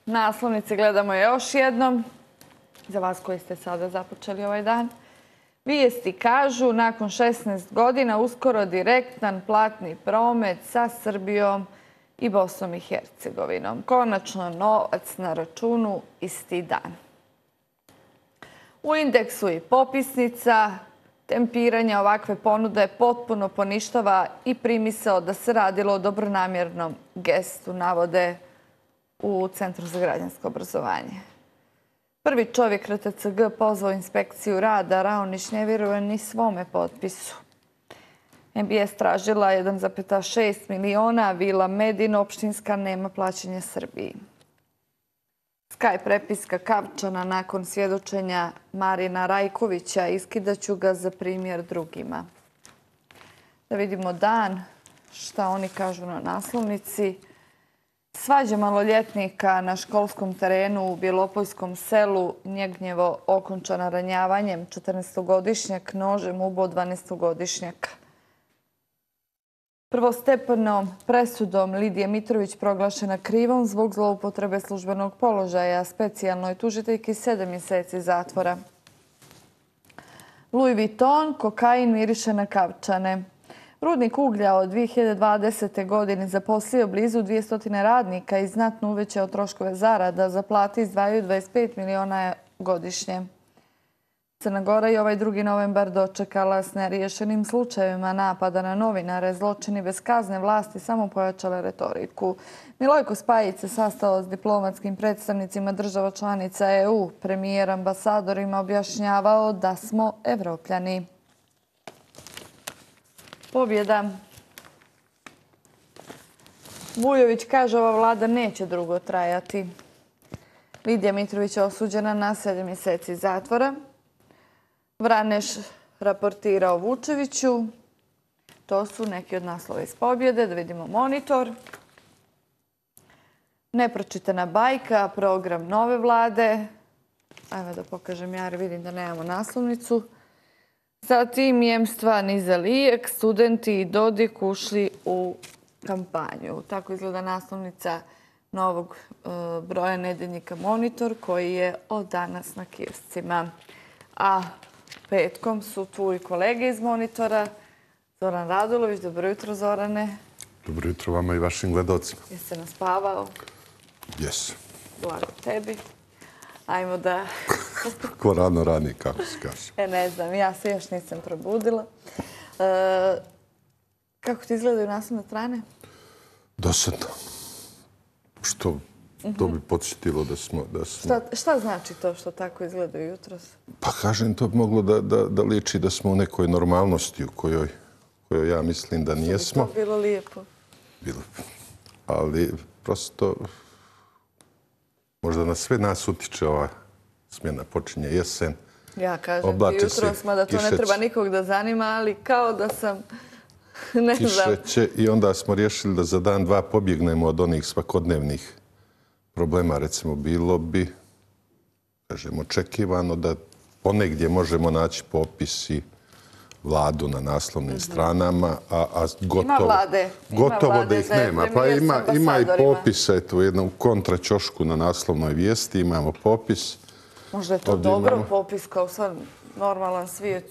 naslovnice gledamo još jednom. Za vas koji ste sada započeli ovaj dan. Vijesti kažu, nakon 16 godina uskoro direktan platni promet sa Srbijom i Bosnom i Hercegovinom. Konačno novac na računu isti dan. U indeksu i popisnica tempiranje ovakve ponude potpuno poništava i primisao da se radilo o dobronamjernom gestu, navode u Centru za građansko obrazovanje. Prvi čovjek RTCG pozvao inspekciju rada, Raonić ne vjeruje ni svome potpisu. MBS tražila 1,6 miliona, Vila Medin opštinska nema plaćanja Srbiji. Sky prepiska Kavčana nakon svjedočenja Marina Rajkovića, iskidaću ga za primjer drugima. Da vidimo dan, šta oni kažu na naslovnici. Svađa maloljetnika na školskom terenu u Bjelopolskom selu Njegnjevo okončana ranjavanjem. 14-godišnjak nožem ubao 12-godišnjaka. Prvostepenom presudom Lidije Mitrović proglašena krivom zbog zloupotrebe službenog položaja. Specijalnoj tužiteljki 7 mjeseci zatvora. Louis Vuitton, kokain miriše na Kavčane. Rudnik uglja od 2020. godine zaposlio blizu 200 radnika i znatno uvećao troškove zarada. Za plate izdvajaju 25 miliona godišnje. Crna Gora i ovaj 2. novembar dočekala s neriješenim slučajevima napada na novinare. Zločini bez kazne vlasti samo pojačale retoriku. Milojko Spajić se sastao s diplomatskim predstavnicima država članica EU. Premijer ambasadorima objašnjavao da smo Evropljani. Pobjeda. Vujović kaže ova vlada neće dugo trajati. Lidija Mitrović je osuđena na 7 mjeseci zatvora. Vraneš raportirao Vučeviću. To su neki od naslova iz pobjede. Da vidimo monitor. Nepročitana bajka, program nove vlade. Ajmo da pokažem ja jer vidim da nemamo naslovnicu. Zatim jemstva niza lijek, studenti i Dodik ušli u kampanju. Tako izgleda naslovnica novog broja nedeljnika Monitor koji je od danas na kioscima. A petkom su tu i kolege iz Monitora. Zoran Radulović, dobro jutro Zorane. Dobro jutro vama i vašim gledalcima. Jesi se naspavao? Jes. Blago tebi. Ajmo da... Ko rano rani, kako se kaže. Ne znam, ja se još nisam probudila. Kako ti izgledaju naslovne strane? Dosadno. Što to bi podsjetilo da smo... Šta znači to što tako izgledaju jutros? Pa kažem, to bi moglo da liči da smo u nekoj normalnosti u kojoj ja mislim da nijesmo. Što bi to bilo lijepo? Bilo. Ali prosto možda na sve nas utiče ova smjena. Počinje jesen. Ja kažem ti jutros, mada to ne treba nikog da zanima, ali kao da sam... Ne znam. Kišeće i onda smo riješili da za dan, dva pobjegnemo od onih svakodnevnih problema. Recimo, bilo bi, kažem, očekivano da ponegdje možemo naći popis i vladu na naslovnim stranama, a gotovo da ih nema. Pa ima i popis, eto, u jednom kontraćošku na naslovnoj vijesti imamo popis. Možda je to dobro popis kao sad normalan svijet.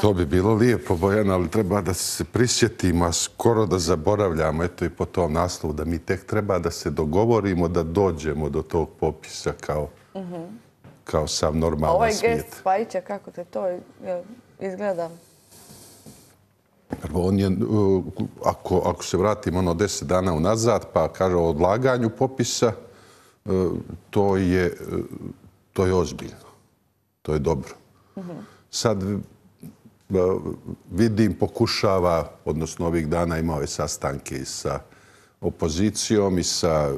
To bi bilo lijepo, Bojana, ali treba da se prisjetimo, a skoro da zaboravljamo, eto i po tom naslovu, da mi tek treba da se dogovorimo da dođemo do tog popisa kao sav normalan svijet. Ovaj gest Spajića, kako te to izgleda? Prvo, on je, ako se vratimo 10 dana unazad, pa kaže o odlaganju popisa, to je ozbiljno. To je dobro. Sad vidim, pokušava, odnosno ovih dana imao je sastanke i sa opozicijom i sa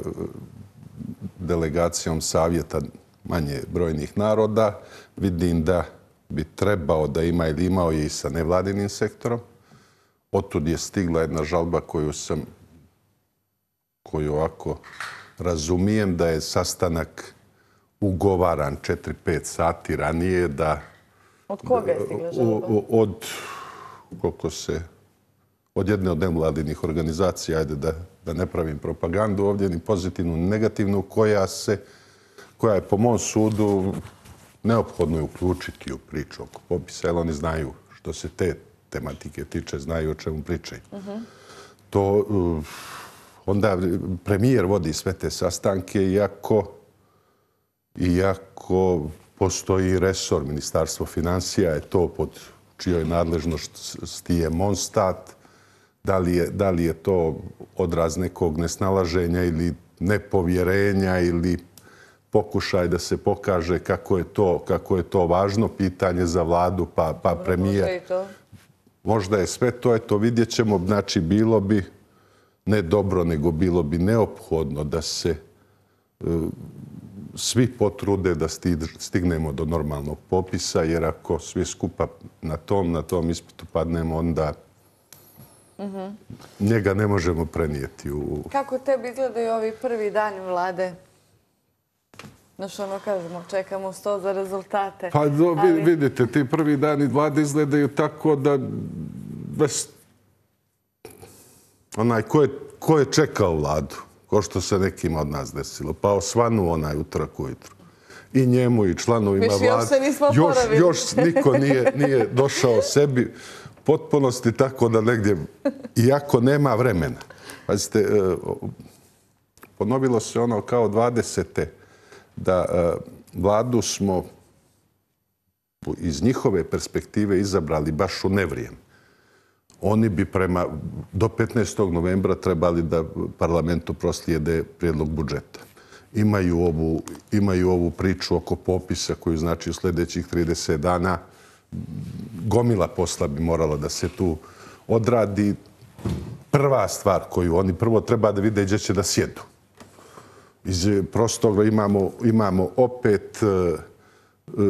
delegacijom savjeta manje brojnih naroda. Vidim da bi trebao da ima ili imao je i sa nevladinim sektorom. Otud je stigla jedna žalba koju ovako razumijem da je sastanak ugovaran 4-5 sati ranije da... Od koga je stigla žalba? od jedne od nevladinih organizacija, ajde da ne pravim propagandu ovdje, ni pozitivnu, ni negativnu, koja je po mom sudu neophodno je uključiti u priču oko popisa, jer oni znaju što se te tematike tiče, znaju o čemu pričaju. To onda premijer vodi sve te sastanke, iako postoji resor, Ministarstvo financija je to pod čijoj nadležnosti je Monstat. Da li je to odraz nekog nesnalaženja ili nepovjerenja ili pokušaj da se pokaže kako je to važno pitanje za vladu, pa premijer. Možda je sve to, eto vidjet ćemo. Znači, bilo bi ne dobro, nego bilo bi neophodno da se svi potrude da stignemo do normalnog popisa, jer ako svi skupa na tom ispitu padnemo, onda njega ne možemo prenijeti. Kako tebi izgledaju ovi prvi dani vlade? Znaš, ono kažemo, čekamo 100 za rezultate. Pa vidite, ti prvi dani vlade izgledaju tako da onaj ko je čekao vladu, ko što se nekima od nas desilo, pa osvanu onaj utorak ujutru. I njemu i članovima vlade. Još niko nije došao sebi potpunosti, tako da negdje, iako nema vremena. Pazite, ponovilo se ono kao 20. da vladu smo iz njihove perspektive izabrali baš u nevrijem. Oni bi do 15. novembra trebali da parlamentu proslijede prijedlog budžeta. Imaju ovu priču oko popisa koju znači u sljedećih 30 dana. Gomila posla bi morala da se tu odradi. Prva stvar koju oni prvo treba da vide gdje će da sjedu. Iz prostoga imamo opet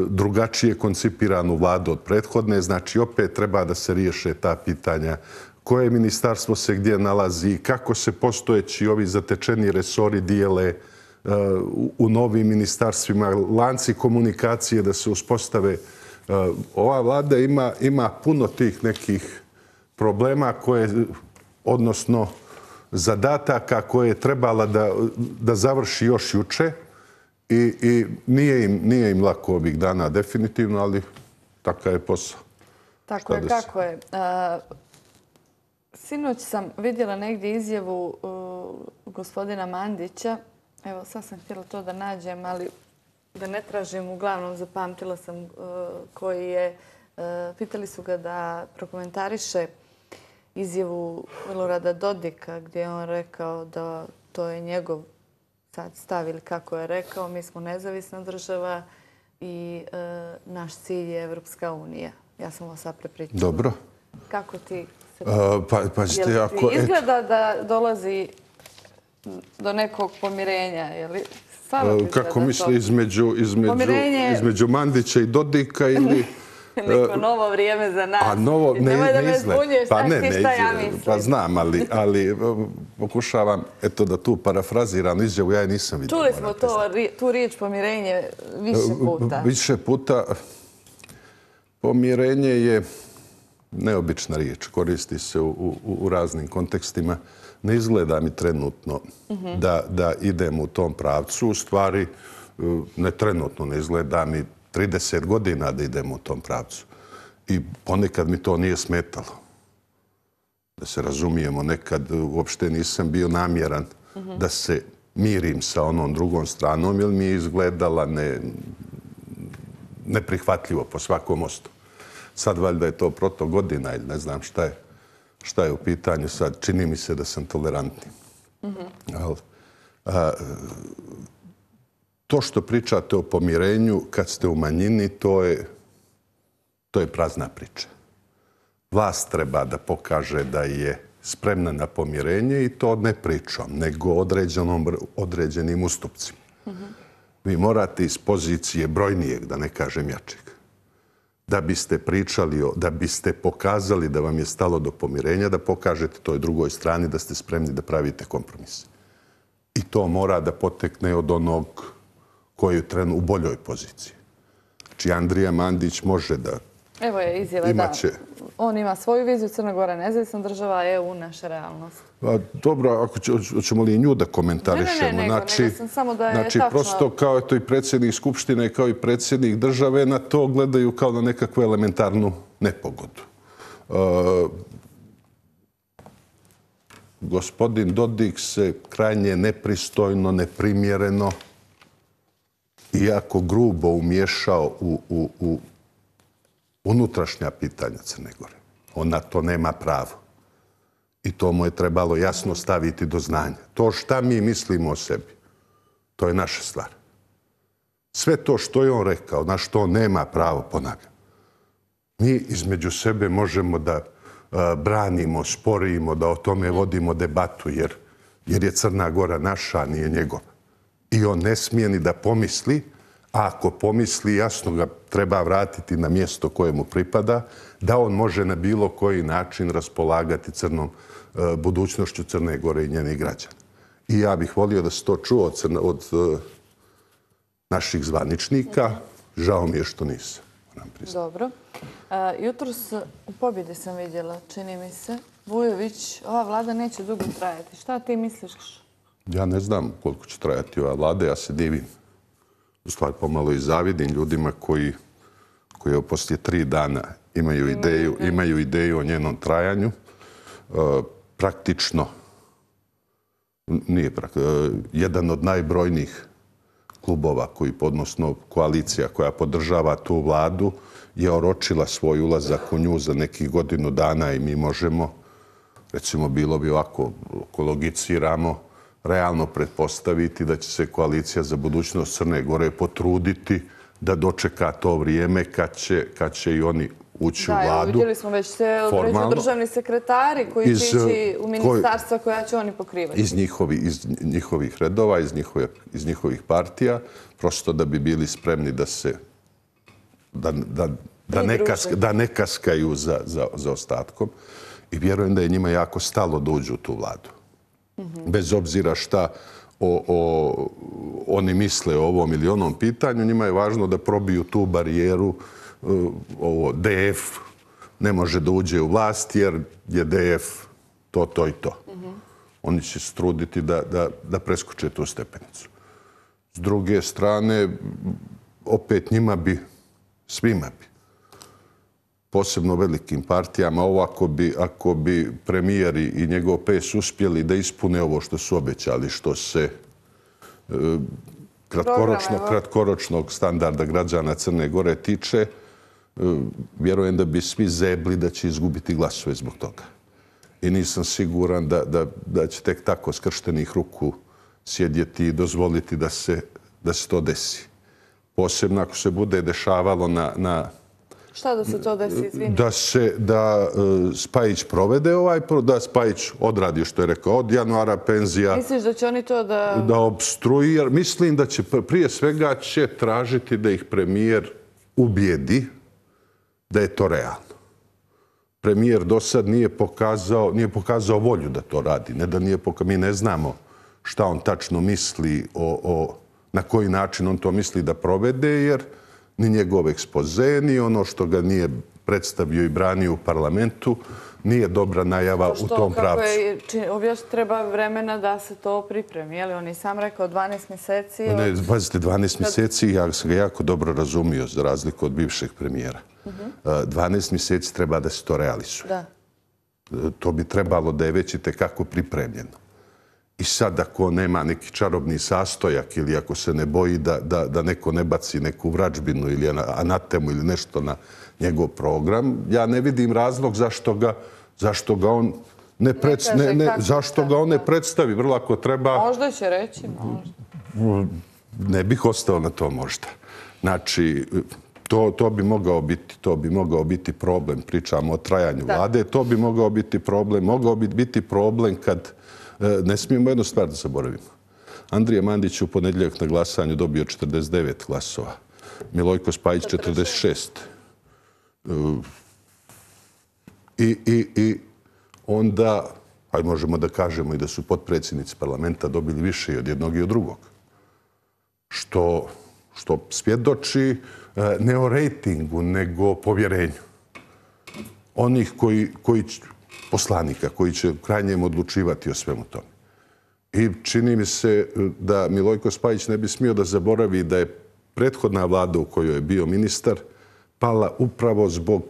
drugačije koncipiranu vladu od prethodne. Znači, opet treba da se riješe ta pitanja koje ministarstvo se gdje nalazi, kako se postojeći ovi zatečeni resori dijele u novim ministarstvima, lanci komunikacije da se uspostave. Ova vlada ima puno tih nekih problema odnosno zadataka koje je trebala da završi još juče i nije im lako ovih dana definitivno, ali takav je posao. Tako je, kako je. Sinoć sam vidjela negdje izjavu gospodina Mandića. Evo, sad sam htjela to da nađem, ali da ne tražim. Uglavnom, zapamtila sam koji je... Pitali su ga da prokomentariše izjavu Milorada Dodika gdje je on rekao da to je njegov sad stav ili kako je rekao. Mi smo nezavisna država i naš cilj je Evropska unija. Ja sam ovo sad prepričala. Dobro. Kako ti se... Jel ti izgleda da dolazi do nekog pomirenja? Kako misli između Mandića i Dodika ili... Neko novo vrijeme za nas. Nemoj da me zbunjuješ, šta ja mislim. Pa znam, ali pokušavam da tu parafraziram izjavu, ja je nisam vidio. Čuli smo tu riječ pomirenje više puta. Više puta. Pomirenje je neobična riječ, koristi se u raznim kontekstima. Ne izgleda mi trenutno da idemo u tom pravcu. U stvari, ne trenutno, ne izgleda mi 30 godina da idemo u tom pravcu. I ponekad mi to nije smetalo. Da se razumijemo, nekad uopšte nisam bio namjeran da se mirim sa onom drugom stranom, jer mi je izgledala neprihvatljivo po svakom mostu. Sad valjda je to protok godina ili ne znam šta je u pitanju sad. Čini mi se da sam tolerantni. To što pričate o pomirenju kad ste u manjini, to je prazna priča. Vlast treba da pokaže da je spremna na pomirenje i to ne pričom, nego određenim ustupcima. Vi morate iz pozicije brojnijeg, da ne kažem jačeg, da biste pričali, da biste pokazali da vam je stalo do pomirenja, da pokažete toj drugoj strani da ste spremni da pravite kompromise. I to mora da potekne od onog koji je trenutno u boljoj poziciji. Znači, Andrija Mandić može da... Evo je izjava, on ima svoju viziju, Crna Gora nezavisna država, EU naša realnost. Dobro, ako ćemo li i nju da komentarišemo? Ne, nego sam samo da je tačno. Prosto kao i predsjednik Skupštine, kao i predsjednik države, na to gledaju kao na nekakvu elementarnu nepogodu. Gospodin Dodik se krajnje nepristojno, neprimjereno i jako grubo umiješao u unutrašnja pitanja Crne Gore. On na to nema pravo. I to mu je trebalo jasno staviti do znanja. To šta mi mislimo o sebi, to je naša stvar. Sve to što je on rekao, na što on nema pravo, ponavljam, mi između sebe možemo da branimo, sporimo, da o tome vodimo debatu, jer je Crna Gora naša, a nije njegova. I on ne smije ni da pomisli, a ako pomisli, jasno ga treba vratiti na mjesto koje mu pripada, da on može na bilo koji način raspolagati budućnošću Crne Gore i njenih građana. I ja bih volio da se to čuo od naših zvaničnika. Žao mi je što nisam. Dobro. Jutros u Pobjedi sam vidjela, čini mi se, Vujović, ova vlada neće dugo trajati. Šta ti misliš? Ja ne znam koliko će trajati ova vlada, ja se divim. U stvari pomalo i zavidim ljudima koji poslije 3 dana imaju ideju o njenom trajanju. Praktično, jedan od najbrojnijih klubova, odnosno koalicija koja podržava tu vladu, je oročila svoj ulazak u nju za nekih godinu dana i mi možemo, recimo bilo bi ovako, ako logiciramo, realno pretpostaviti da će se koalicija za budućnost Crne Gore potruditi da dočeka to vrijeme kad će i oni ući u vladu. Da, vidjeli smo već se određuju državni sekretari koji će ići u ministarstva koja će oni pokrivati. Iz njihovih redova, iz njihovih partija, prosto da bi bili spremni da se da ne kaskaju za ostatkom. I vjerujem da je njima jako stalo da uđu u tu vladu. Bez obzira šta oni misle o ovom ili onom pitanju, njima je važno da probiju tu barijeru. DF ne može da uđe u vlast jer je DF to i to. Oni će se truditi da preskoče tu stepenicu. S druge strane, opet njima bi, svima bi, posebno velikim partijama, ovo ako bi premijer i njegov PS uspjeli da ispune ovo što su obećali, što se kratkoročnog standarda građana Crne Gore tiče, vjerujem da bi svi zebli da će izgubiti glasove zbog toga. I nisam siguran da će tek tako skrštenih ruku sjedjeti i dozvoliti da se to desi. Posebno ako se bude dešavalo na šta da se to desi, izvini? Da Spajić provede da Spajić odradi što je rekao od januara penzija. Misliš da će oni to da obstruira? Mislim da će prije svega će tražiti da ih premijer ubijedi da je to realno. Premijer do sad nije pokazao volju da to radi. Mi ne znamo šta on tačno misli na koji način on to misli da provede, jer ni njegov ekspoze, ni ono što ga nije predstavio i branio u parlamentu, nije dobra najava u tom pravcu. Objašnjeno treba vremena da se to pripremi. Je li on i sam rekao 12 mjeseci? Pazite, 12 mjeseci, ja sam ga jako dobro razumio, za razliku od bivšeg premijera. 12 mjeseci treba da se to realizuje. To bi trebalo da je već i tekako pripremljeno. I sad ako nema neki čarobni sastojak ili ako se ne boji da neko ne baci neku vražbinu ili anatemu ili nešto na njegov program, ja ne vidim razlog zašto ga on ne predstavi. Vrlo ako treba... Možda će reći, možda. Ne bih ostao na to možda. Znači, to bi mogao biti problem. Pričamo o trajanju vlade. To bi mogao biti problem. Mogao bi biti problem kad... Ne smijemo jednu stvar da zaboravimo. Andrija Mandić je u ponedjeljak na glasanju dobio 49 glasova. Milojko Spajić 46. I onda, pa možemo da kažemo i da su potpredsjednici parlamenta dobili više i od jednog i od drugog. Što svjedoči ne o rejtingu, nego o povjerenju. onih poslanika koji će krajnjem odlučivati o svemu tome. I čini mi se da Milojko Spajić ne bi smio da zaboravi da je prethodna vlada u kojoj je bio ministar pala upravo zbog,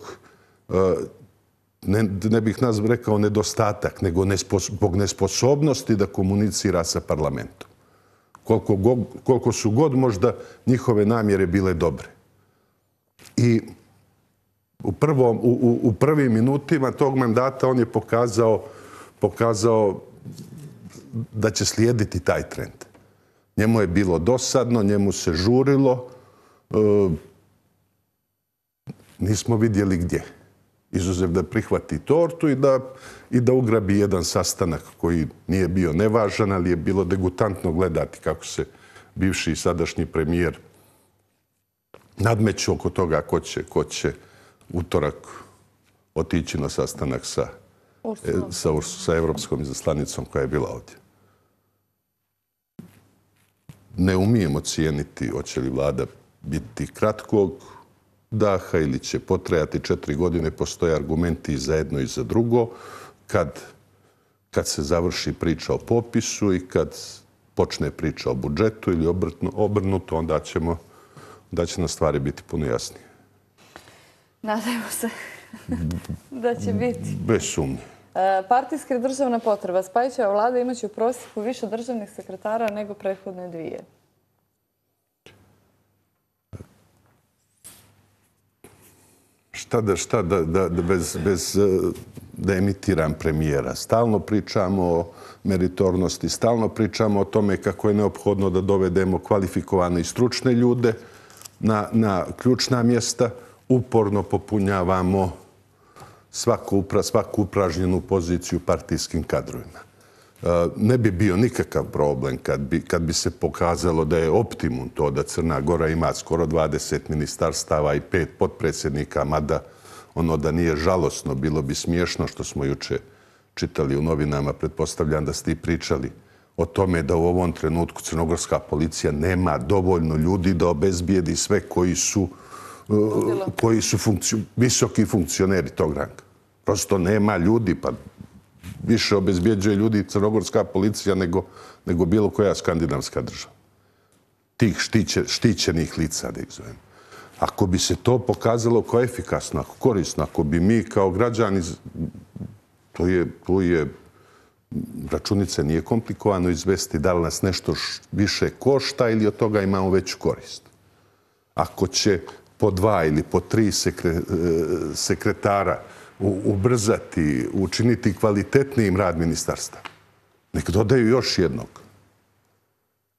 ne bih rekao nedostatak, nego zbog nesposobnosti da komunicira sa parlamentom. Koliko su god možda njihove namjere bile dobre. I u prvim minutima tog mandata on je pokazao da će slijediti taj trend. Njemu je bilo dosadno, njemu se žurilo. Nismo vidjeli gdje. Izuzev da prihvati tortu i da ugrabi jedan sastanak koji nije bio nevažan, ali je bilo degutantno gledati kako se bivši i sadašnji premijer nadmeću oko toga ko će utorak otići na sastanak sa evropskom izaslanicom koja je bila ovdje. Ne umijemo cijeniti hoće li vlada biti kratkog daha ili će potrajati 4 godine. Postoje argumenti i za jedno i za drugo. Kad se završi priča o popisu i kad počne priča o budžetu ili obrnuto, onda će nam stvari biti puno jasnije. Nadajmo se da će biti. Bez sumnje. Partijska i državna potreba. Spajićeva vlada imaće u prosjeku više državnih sekretara nego prethodne dvije. Šta bez da emitiram premijera. Stalno pričamo o meritornosti, stalno pričamo o tome kako je neophodno da dovedemo kvalifikovane i stručne ljude na ključna mjesta. Uporno popunjavamo svaku upražnjenu poziciju partijskim kadrovima. Ne bi bio nikakav problem kad bi se pokazalo da je optimum to da Crna Gora ima skoro 20 ministarstava i 5 potpredsjednika, mada ono da nije žalosno, bilo bi smiješno što smo juče čitali u novinama, pretpostavljam da ste i pričali o tome da u ovom trenutku crnogorska policija nema dovoljno ljudi da obezbijedi sve koji su visoki funkcioneri tog ranga. Prosto nema ljudi, pa više obezbjeđuje ljudi crnogorska policija nego bilo koja skandinavska država. Tih štićenih lica, da ih zovem. Ako bi se to pokazalo kao efikasno, ako korisno, ako bi mi kao građani, to je računice nije komplikovano izvesti da li nas nešto više košta ili od toga imamo veću korist. Ako će po 2 ili po 3 sekretara ubrzati, učiniti kvalitetnijim rad ministarstva, nek dodaju još jednog.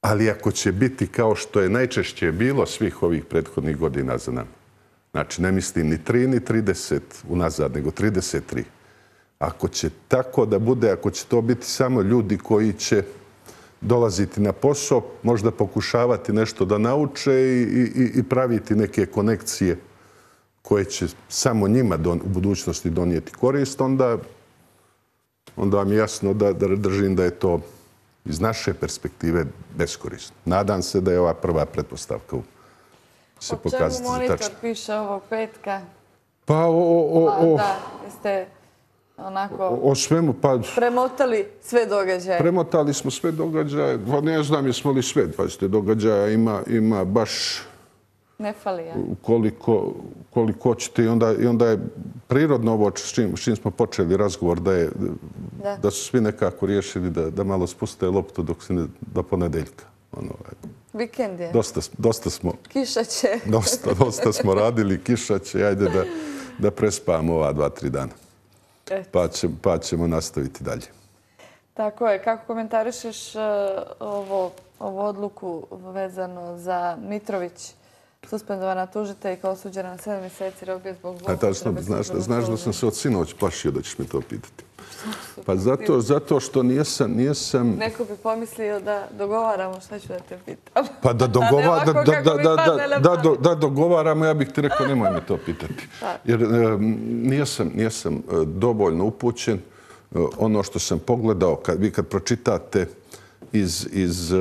Ali ako će biti kao što je najčešće bilo svih ovih prethodnih godina za nama, znači ne mislim ni 3 ni 30 unazad, nego 33. Ako će tako da bude, ako će to biti samo ljudi koji će dolaziti na posao, možda pokušavati nešto da nauče i praviti neke konekcije koje će samo njima u budućnosti donijeti korist, onda vam je jasno da držim da je to iz naše perspektive beskorisno. Nadam se da je ova prva pretpostavka se pokazati za tačno. O čemu Monitor piše ovog petka? Pa Da, jeste onako o svemu, pa premotali sve događaje. Premotali smo sve događaje. Ne znam jesmo li sve. Pazite, događaja ima baš ne fali, ja. Koliko hoćete. I onda je prirodno ovo s čim smo počeli razgovor, da su svi nekako riješili da malo spuste loptu do ponedeljka. Vikend je. Dosta smo... Kiša će. Dosta smo radili, kiša će. Ajde da prespavamo ova 2-3 dana. Pa ćemo nastaviti dalje. Tako je. Kako komentarišeš ovu odluku vezano za Mitrović, suspendovana tužitelj kao osuđena na 7 mjeseci robije zbog zloupotrebe? Znaš da sam se od sinoć plašio da ćeš mi to pitati. Pa zato što nijesam... Neko bi pomislio da dogovaramo, šta ću da te pitam. Pa da dogovaramo, ja bih ti rekao nemoj me to pitati. Jer nijesam dovoljno upućen. Ono što sam pogledao, vi kad pročitate iz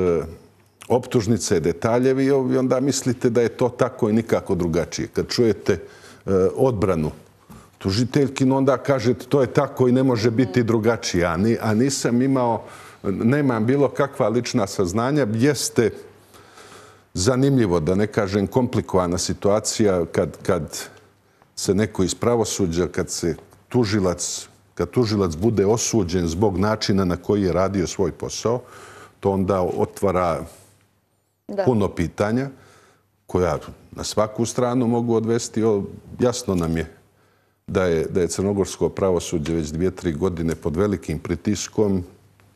optužnice detaljevi, onda mislite da je to tako i nikako drugačije. Kad čujete odbranu tužiteljkin, onda kažete to je tako i ne može biti drugačije. A nisam imao, nemam bilo kakva lična saznanja. Jeste zanimljivo, da ne kažem komplikovana situacija kad se neko iz pravosuđa, kad tužilac bude osuđen zbog načina na koji je radio svoj posao, to onda otvara puno pitanja koja na svaku stranu mogu odvesti. Jasno nam je da je crnogorsko pravosuđe već 2-3 godine pod velikim pritiskom.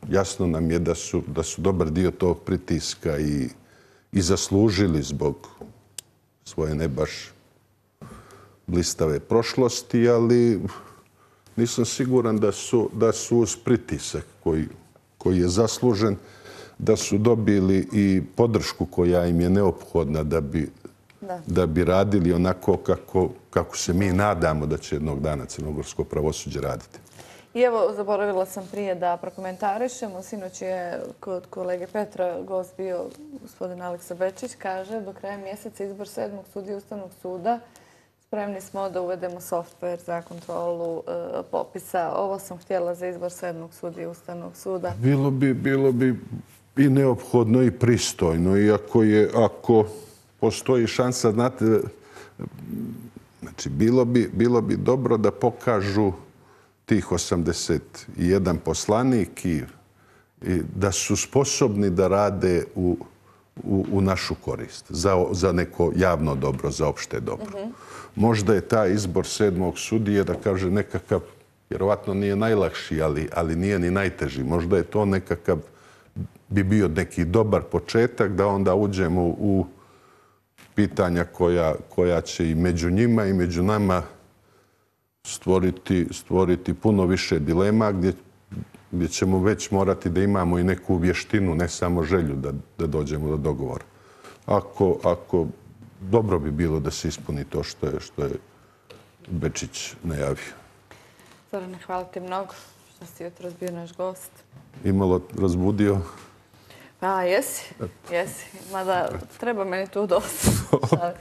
Jasno nam je da su dobar dio tog pritiska i zaslužili zbog svoje ne baš blistave prošlosti, ali nisam siguran da su uz pritisak koji je zaslužen, da su dobili i podršku koja im je neophodna da bi radili onako kako se mi nadamo da će jednog dana crnogorsko pravosuđe raditi. I evo, zaboravila sam prije da prokomentarišemo. Sinoć je kod kolege Petra gost bio gospodin Aleksa Bečić. Kaže, do kraja mjeseca izbor 7. sudije Ustavnog suda. Spremni smo da uvedemo softver za kontrolu popisa. Ovo sam htjela za izbor 7. sudije Ustavnog suda. Bilo bi i neophodno i pristojno. I ako postoji šansa, znate, znači bilo bi dobro da pokažu tih 81 poslanik i da su sposobni da rade u našu korist, za neko javno dobro, za opšte dobro. Možda je taj izbor 7. sudije, da kaže, nekakav, vjerovatno nije najlakši, ali nije ni najteži. Možda je to nekakav, bi bio neki dobar početak da onda uđemo u pitanja koja će i među njima i među nama stvoriti puno više dilema, gdje ćemo već morati da imamo i neku vještinu, ne samo želju da dođemo do dogovora. Ako dobro bi bilo da se ispuni to što je Bečić najavio. Zorane, hvala ti mnogo što si jutros bio naš gost. Imalo razbudio? Pa, jesi. Mada treba meni tu dosta.